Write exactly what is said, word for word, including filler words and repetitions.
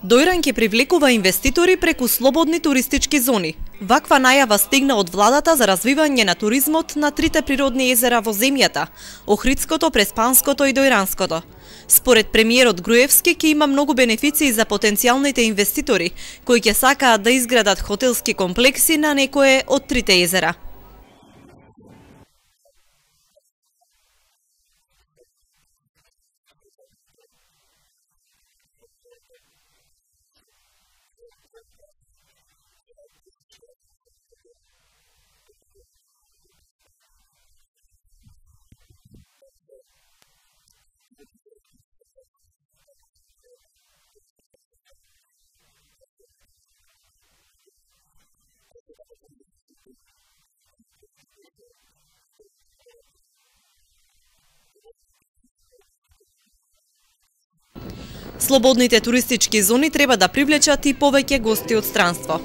Дојран ќе привлекува инвеститори преку слободни туристички зони. Ваква најава стигна од владата за развивање на туризмот на трите природни езера во земјата – Охридското, Преспанското и Дојранското. Според премиерот Груевски ќе има многу бенефиции за потенцијалните инвеститори кои ќе сакаат да изградат хотелски комплекси на некое од трите езера. Слободните туристички зони треба да привлечат и повеќе гости од странство.